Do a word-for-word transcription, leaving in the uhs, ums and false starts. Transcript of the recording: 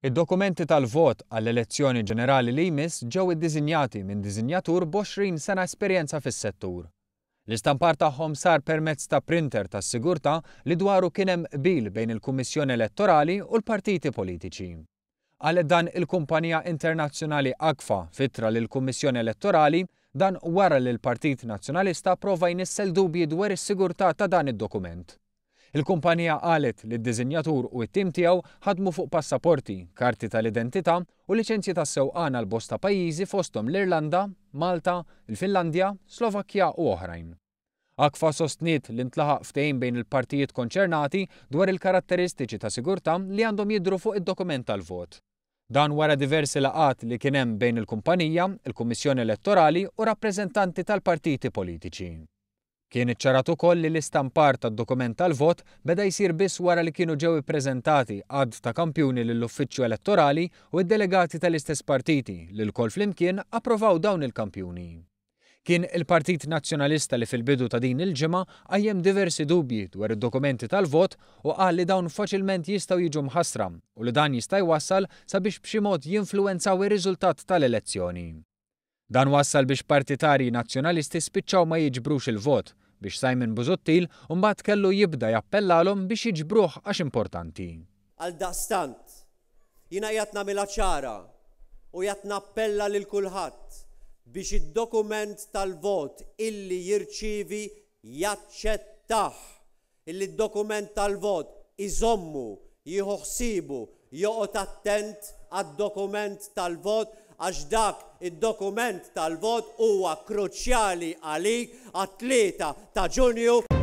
Id-dokumenti tal-vot għall-elezzjoni ġenerali li jmiss ġew iddisinjati minn disinjatur b'għoxrin sena esperjenza fis-settur. L-istampar tagħhom sar permezz ta' printer tas-sigurtà li dwaru kien hemm qbil bejn il-Kummissjoni Elettorali u l-partiti politiċi. Qalet dan il-kumpanija internazzjonali Agfa f'ittra lill-Kummissjoni Elettorali, dan wara li l-Partit Nazzjonalista prova jnissel dubji dwar is-sigurtà ta' dan id-dokument. Il-kumpanija qalet li d-disinjatur u t-tim tiegħu ħadmu fuq passaporti, karti tal-identità u liċenzji tas-sewqan għal bosta pajjiżi fosthom l-Irlanda, Malta, il-Finlandja, Slovakkja u oħrajn. Agfa sostniet li ntlaħaq ftehim bejn il-partijiet konċernati dwar il-karatteristiċi ta' sigurtà li għandhom jidhru fuq id-dokument tal-vot. Dan wara diversi laqgħat li kien hemm bejn il-kumpanija, il-Kummissjoni Elettorali u rappreżentanti tal-partiti politiċi. Kien iċċarat ukoll li l-istampar tad-dokument tal-vot beda jsir biss wara li kienu ġew ippreżentati għadd ta' kampjuni lill-Uffiċċju Elettorali u d-delegati tal-istess partiti li lkoll flimkien approvaw dawn il-kampjuni. Kien il-Partit Nazzjonalista li fil-bidu ta' din il-ġimgħa qajjem diversi dubji dwar id-dokumenti tal-vot u qal li dawn faċilment jistgħu jiġu mħassra u li dan jista' jwassal sabiex b'xi mod jinfluwenzaw ir-riżultat tal-elezzjoni. Dan wassal biex partitarji nazzjonalisti spiċċaw ma jiġbrux il-vot biex Simon Busuttil mbagħad kellu jibda jappellalhom biex jiġbruh għax importanti. Għaldaqstant, jiena qiegħed nagħmilha ċara u qiegħed nappella lil kulħadd biex id-dokument tal-vot illi jirċievi jaċċettah, illi d-dokument tal-vot iżommu, jieħu ħsiebu, joqgħod attent għad-dokument tal-vot għax dak id-dokument tal-vot huwa kruċjali għalik għat-tlieta ta' Ġunju.